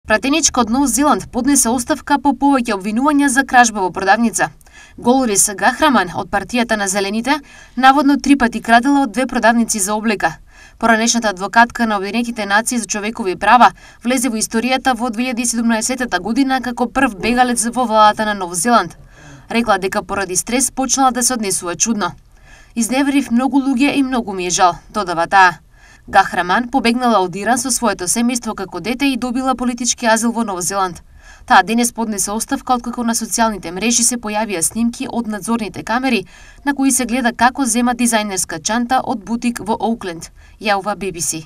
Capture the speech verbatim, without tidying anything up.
Пратеничка од Нов Зеланд поднесе оставка по повеќе обвинувања за кражба во продавница. Голорис Гахраман од партијата на Зелените наводно три пати крадела од две продавници за облека. Поранешната адвокатка на Обединетите нации за човекови права влезе во историјата во две илјади и седумнаесетта година како прв бегалец во владата на Нов Зеланд. Рекла дека поради стрес почнала да се однесува чудно. Изневерив многу луѓе и многу ми е жал, додава таа. Гахраман побегнала од Иран со своето семејство како дете и добила политички азил во Нов Зеланд. Таа денес поднесе оставка откако на социјалните мрежи се појавија снимки од надзорните камери на кои се гледа како зема дизајнерска чанта од бутик во Оукленд, јавува Би Би Си.